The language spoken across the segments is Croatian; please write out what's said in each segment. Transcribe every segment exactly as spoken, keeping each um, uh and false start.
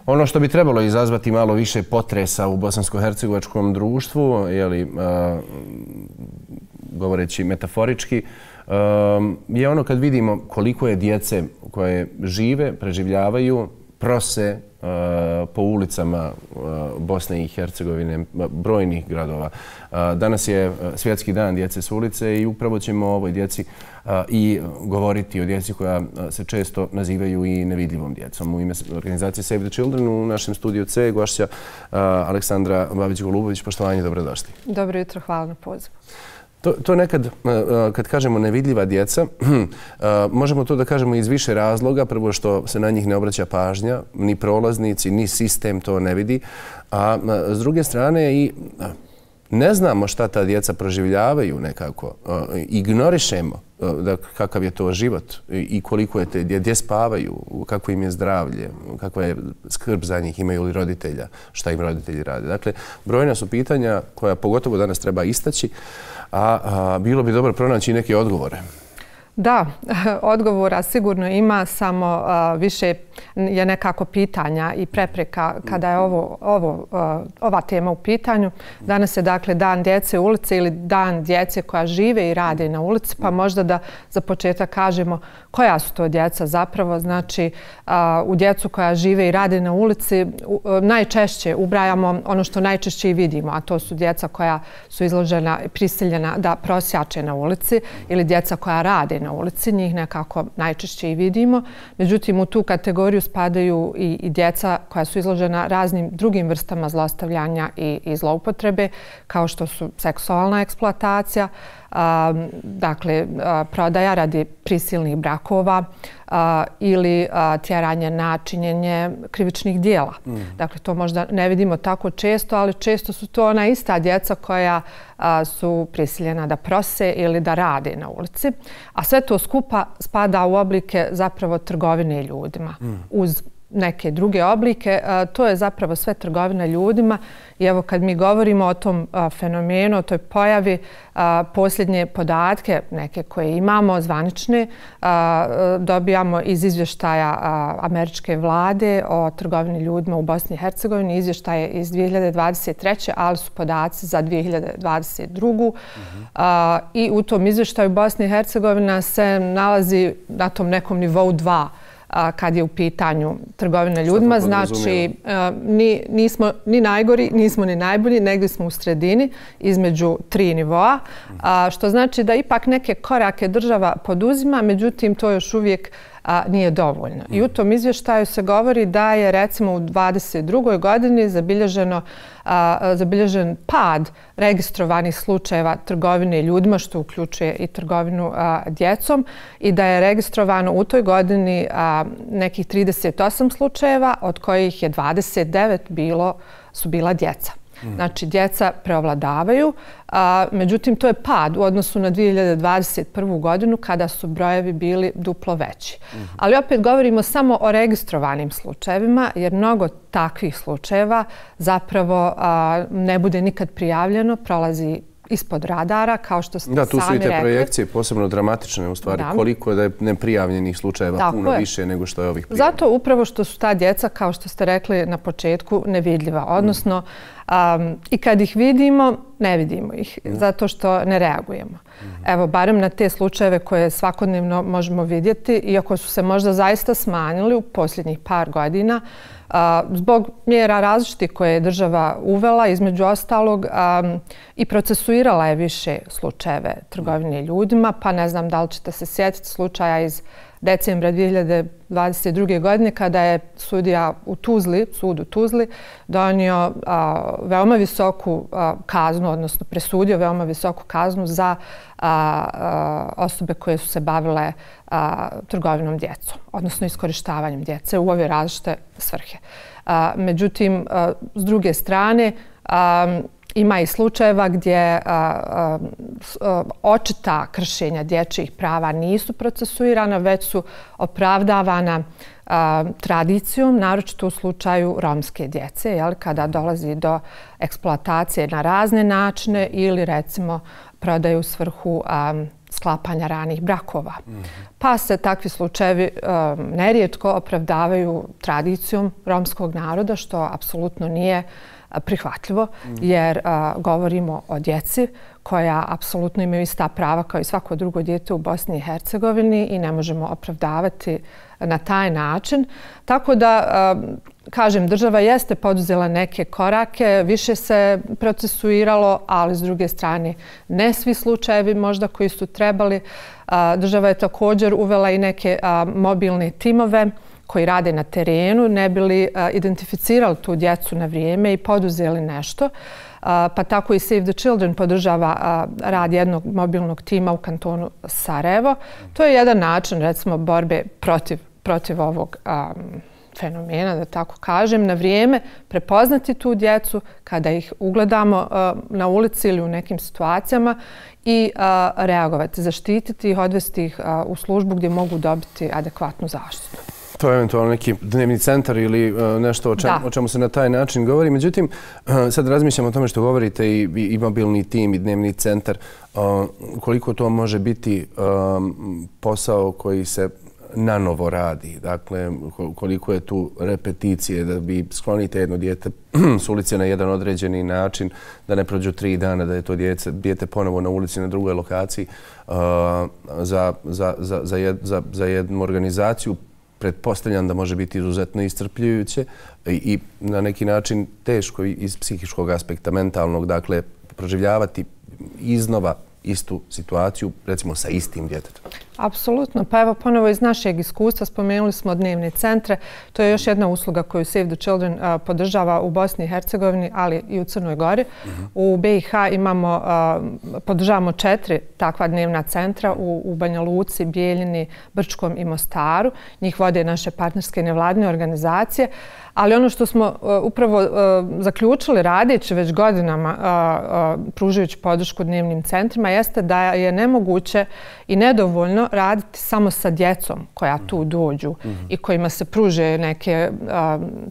Ono što bi trebalo izazvati malo više potresa u bosansko-hercegovačkom društvu, jeli, govoreći metaforički, je ono kad vidimo koliko je djece koje žive, preživljavaju, prose po ulicama Bosne i Hercegovine, brojnih gradova. Danas je Svjetski dan djece s ulice i upravo ćemo o ovoj djeci i govoriti o djeci koja se često nazivaju i nevidljivom djecom. U ime organizacije Save the Children u našem studiju C gošća Aleksandra Babić-Golubović. Poštovanje, dobrodošli. Dobro jutro, hvala na pozivu. To, to nekad, kad kažemo nevidljiva djeca, možemo to da kažemo iz više razloga. Prvo što se na njih ne obraća pažnja, ni prolaznici, ni sistem to ne vidi. A s druge strane i ne znamo šta ta djeca proživljavaju nekako. Ignorišemo da kakav je to život i koliko je te, gdje spavaju, kako im je zdravlje, kakva je skrb za njih, imaju li roditelja, šta im roditelji rade. Dakle, brojna su pitanja koja pogotovo danas treba istaći, a, a bilo bi dobro pronaći neke odgovore. Da, odgovora sigurno ima, samo uh, više je nekako pitanja i prepreka kada je ovo, ovo, uh, ova tema u pitanju. Danas je dakle dan djece u ulici ili dan djece koja žive i rade na ulici, pa možda da za početak kažemo koja su to djeca zapravo. Znači, uh, u djecu koja žive i rade na ulici uh, najčešće ubrajamo ono što najčešće i vidimo, a to su djeca koja su izložena i prisiljena da prosjače na ulici ili djeca koja rade na ulici, njih nekako najčešće i vidimo. Međutim, u tu kategoriju spadaju i, i djeca koja su izložena raznim drugim vrstama zlostavljanja i, i zloupotrebe, kao što su seksualna eksploatacija, a, dakle a, prodaja radi prisilnih brakova a, ili a, tjeranje na činjenje krivičnih dijela. Mm. Dakle, to možda ne vidimo tako često, ali često su to ona ista djeca koja a, su prisiljena da prose ili da rade na ulici. A sve to skupa spada u oblike zapravo trgovine ljudima. Mm. Uz neke druge oblike, to je zapravo sve trgovina ljudima. I evo kad mi govorimo o tom fenomenu, o toj pojavi, posljednje podatke neke koje imamo zvanične dobijamo iz izvještaja američke vlade o trgovini ljudima u Bosni i Hercegovini. Izvještaj je iz dvije hiljade dvadeset treće ali su podaci za dvije hiljade dvadeset drugu Mm-hmm. I u tom izvještaju Bosna i Hercegovina se nalazi na tom nekom nivou dva kad je u pitanju trgovina ljudima. Znači, ni, nismo ni najgori, nismo ni najbolji, negdje smo u sredini između tri nivoa, što znači da ipak neke korake država poduzima, međutim to još uvijek a, nije dovoljno. I u tom izvještaju se govori da je recimo u dvadeset drugoj godini zabilježeno, a, zabilježen pad registrovanih slučajeva trgovine ljudima, što uključuje i trgovinu a, djecom, i da je registrovano u toj godini a, nekih trideset osam slučajeva, od kojih je dvadeset devet bilo, su bila djeca. Znači, djeca preovladavaju, a, međutim, to je pad u odnosu na dvije hiljade dvadeset prvu godinu kada su brojevi bili duplo veći. Mm-hmm. Ali opet govorimo samo o registrovanim slučajevima, jer mnogo takvih slučajeva zapravo a, ne bude nikad prijavljeno, prolazi ispod radara, kao što ste sami rekli. Da, tu su i te projekcije posebno dramatične, u stvari, da. Koliko je da je neprijavljenih slučajeva Tako puno je. više nego što je ovih prijavljenih. Zato upravo što su ta djeca, kao što ste rekli na početku, nevidljiva. Odnosno, um, i kad ih vidimo, ne vidimo ih, mm. zato što ne reagujemo. Mm. Evo, barem na te slučajeve koje svakodnevno možemo vidjeti, iako su se možda zaista smanjili u posljednjih par godina, Uh, zbog mjera različitih koje je država uvela, između ostalog, um, i procesuirala je više slučajeve trgovine ljudima, pa ne znam da li ćete se sjetiti slučaja iz decembra dvije hiljade dvadeset druge godine kada je sudija u Tuzli, sud u Tuzli, donio a, veoma visoku a, kaznu, odnosno presudio veoma visoku kaznu za a, a, osobe koje su se bavile a, trgovinom djecom, odnosno iskorištavanjem djece u ove različite svrhe. A, međutim, a, s druge strane, a, ima i slučajeva gdje a, a, a, očita kršenja dječjih prava nisu procesuirana, već su opravdavana a, tradicijom, naročito u slučaju romske djece, jel, kada dolazi do eksploatacije na razne načine ili recimo prodaju u svrhu a, sklapanja ranih brakova. Pa se takvi slučajevi nerijetko opravdavaju tradicijom romskog naroda, što apsolutno nije prihvatljivo, jer govorimo o djeci koja apsolutno imaju ista prava kao i svako drugo dijete u Bosni i Hercegovini i ne možemo opravdavati na taj način. Tako da, kažem, država jeste poduzela neke korake, više se procesuiralo, ali s druge strane ne svi slučajevi možda koji su trebali. Država je također uvela i neke mobilne timove koji rade na terenu, ne bi li identificirali tu djecu na vrijeme i poduzeli nešto. Pa tako i Save the Children podržava rad jednog mobilnog tima u kantonu Sarajevo. To je jedan način, recimo, borbe protiv, protiv ovog um, fenomena, da tako kažem, na vrijeme prepoznati tu djecu kada ih ugledamo uh, na ulici ili u nekim situacijama i uh, reagovati, zaštititi ih, odvesti ih uh, u službu gdje mogu dobiti adekvatnu zaštitu. To je eventualno neki dnevni centar ili uh, nešto o, čem, o čemu se na taj način govori. Međutim, uh, sad razmišljam o tome što govorite i, i, i mobilni tim i dnevni centar. Uh, koliko to može biti um, posao koji se nanovo radi. Dakle, koliko je tu repeticije da bi sklonite jedno dijete s ulice na jedan određeni način, da ne prođu tri dana, da je to dijete, dijete ponovo na ulici na drugoj lokaciji. Uh, za, za, za, za, jed, za, za jednu organizaciju pretpostavljam da može biti izuzetno iscrpljujuće i, i na neki način teško iz psihičkog aspekta, mentalnog, dakle, proživljavati iznova istu situaciju, recimo sa istim djetetom. Apsolutno. Pa evo ponovo iz našeg iskustva spomenuli smo dnevne centre. To je još jedna usluga koju Save the Children uh, podržava u Bosni i Hercegovini, ali i u Crnoj Gori. Uh-huh. U B i H imamo, uh, podržavamo četiri takva dnevna centra u, u Banja Luci, Bijeljini, Brčkom i Mostaru. Njih vode naše partnerske nevladine organizacije. Ali ono što smo uh, upravo uh, zaključili radeći već godinama uh, uh, pružajući podršku dnevnim centrima jeste da je nemoguće i nedovoljno raditi samo sa djecom koja tu dođu mm-hmm. i kojima se pruže neke uh,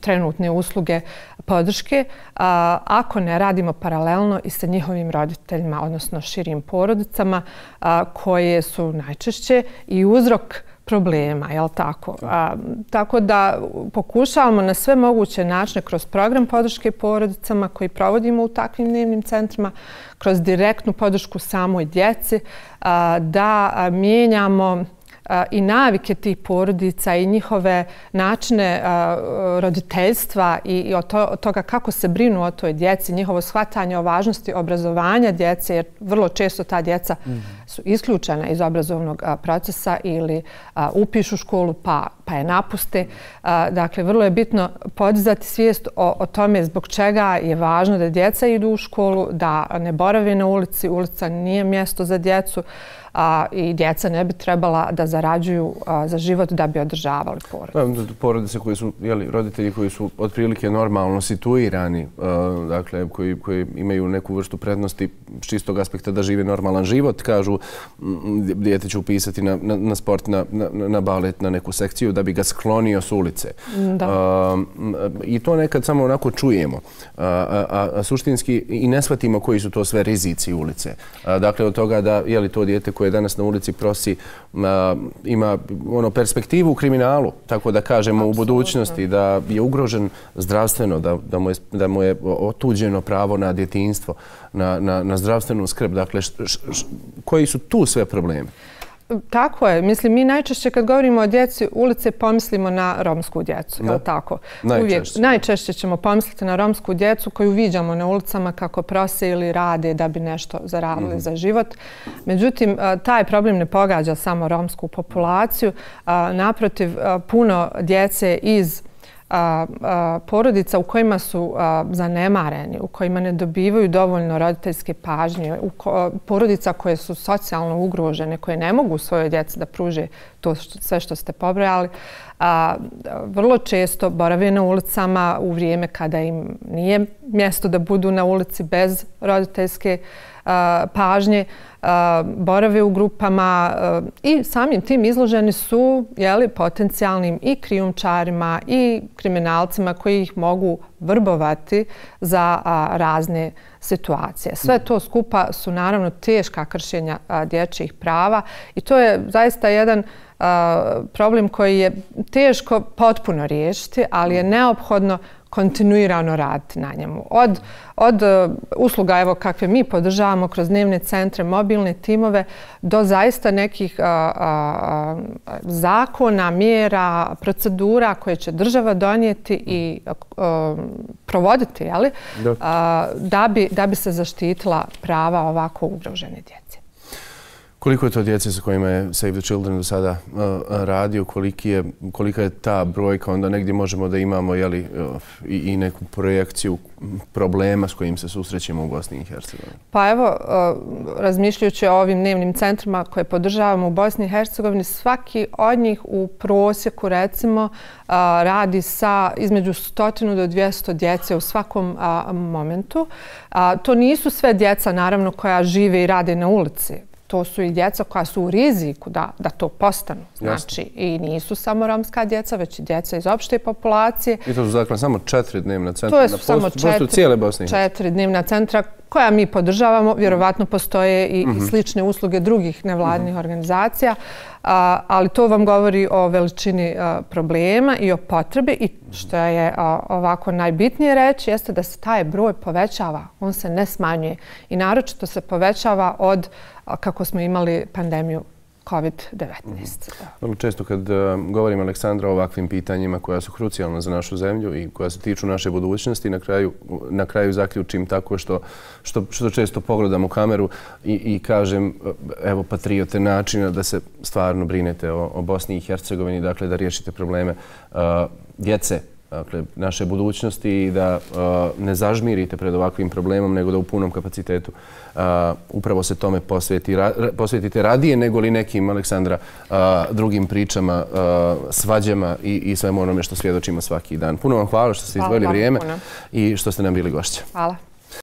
trenutne usluge podrške, uh, ako ne radimo paralelno i sa njihovim roditeljima, odnosno širim porodicama, uh, koje su najčešće i uzrok problema, jel tako? A, tako da pokušavamo na sve moguće načine kroz program podrške porodicama koji provodimo u takvim dnevnim centrima, kroz direktnu podršku samoj djeci, a, da a, mijenjamo a, i navike tih porodica i njihove načine a, roditeljstva i, i od, to, od toga kako se brinu o toj djeci, njihovo shvatanje o važnosti obrazovanja djece, jer vrlo često ta djeca mm. su isključena iz obrazovnog a, procesa ili a, upišu školu pa, pa je napuste. A, dakle, vrlo je bitno podizati svijest o, o tome zbog čega je važno da djeca idu u školu, da ne borave na ulici. Ulica nije mjesto za djecu. A, i djeca ne bi trebala da zarađuju a, za život da bi održavali porodice. Porodice koji su, jeli, roditelji koji su otprilike normalno situirani, a, dakle, koji, koji imaju neku vrstu prednosti s čistog aspekta da žive normalan život, kažu dijete će upisati na, na, na sport, na, na, na balet, na neku sekciju da bi ga sklonio s ulice. Da. A, I to nekad samo onako čujemo. A, a, a suštinski i ne shvatimo koji su to sve rizici ulice. A, dakle, od toga da je li to dijete koje danas na ulici prosi a, ima ono perspektivu u kriminalu, tako da kažemo Absolutno. U budućnosti, da je ugrožen zdravstveno, da, da, mu, je, da mu je otuđeno pravo na djetinjstvo, na, na, na zdravstvenu skrb. Dakle, š, š, š, koji su tu sve problemi? Tako je. Mislim, mi najčešće kad govorimo o djeci ulice pomislimo na romsku djecu. Je li tako? Najčešće. Uvijek, najčešće ćemo pomisliti na romsku djecu koju viđamo na ulicama kako prose ili rade da bi nešto zaradili mm-hmm. za život. Međutim, taj problem ne pogađa samo romsku populaciju. Naprotiv, puno djece iz A, a, porodica u kojima su a, zanemareni, u kojima ne dobivaju dovoljno roditeljske pažnje, u ko, porodica koje su socijalno ugrožene, koje ne mogu svojoj djeci da pruže to što, sve što ste pobrojali, a, vrlo često borave na ulicama u vrijeme kada im nije mjesto da budu na ulici bez roditeljske a, pažnje. borave u grupama i samim tim izloženi su potencijalnim i krijumčarima i kriminalcima koji ih mogu vrbovati za razne situacije. Sve to skupa su naravno teška kršenja dječjih prava i to je zaista jedan problem koji je teško potpuno riješiti, ali je neophodno kontinuirano raditi na njemu. Od, od usluga evo, kakve mi podržavamo kroz dnevne centre, mobilne timove, do zaista nekih a, a, zakona, mjera, procedura koje će država donijeti i a, provoditi, jeli, a, da, bi, da bi se zaštitila prava ovako ugrožene djece. Koliko je to djece sa kojima je Save the Children do sada uh, radio, koliki je, kolika je ta brojka, onda negdje možemo da imamo jeli, uh, i, i neku projekciju problema s kojim se susrećemo u Bosni i Hercegovini? Pa evo, uh, razmišljajući o ovim dnevnim centrima koje podržavamo u Bosni i Hercegovini, svaki od njih u prosjeku recimo uh, radi sa između stotinu do dvjesto djece u svakom uh, momentu. Uh, to nisu sve djeca naravno koja žive i rade na ulici. To su i djeca koja su u riziku da, da to postanu. Znači, i nisu samo romska djeca, već i djeca iz opšte populacije. I to su dakle samo četiri dnevna centra? To su samo četiri, cijele Bosne. četiri dnevna centra koja mi podržavamo. Vjerovatno postoje i, mm-hmm. i slične usluge drugih nevladnih mm-hmm. organizacija, a, ali to vam govori o veličini a, problema i o potrebi i što je a, ovako najbitnije reći jeste da se taj broj povećava, on se ne smanjuje i naročito se povećava od kako smo imali pandemiju kovid devetnaest. Vrlo često kad govorim Aleksandra o ovakvim pitanjima koja su krucijalna za našu zemlju i koja se tiču naše budućnosti, na kraju, na kraju zaključim tako što, što, što često pogledam u kameru i, i kažem evo patriote načina da se stvarno brinete o, o Bosni i Hercegovini, dakle da riješite probleme uh, djece, dakle, naše budućnosti i da uh, ne zažmirite pred ovakvim problemom, nego da u punom kapacitetu uh, upravo se tome posveti, ra, posvetite radije nego li nekim, Aleksandra, uh, drugim pričama, uh, svađama i, i svemu onome što svjedočimo svaki dan. Puno vam hvala što ste izdvojili vrijeme puno. I što ste nam bili gošća. Hvala.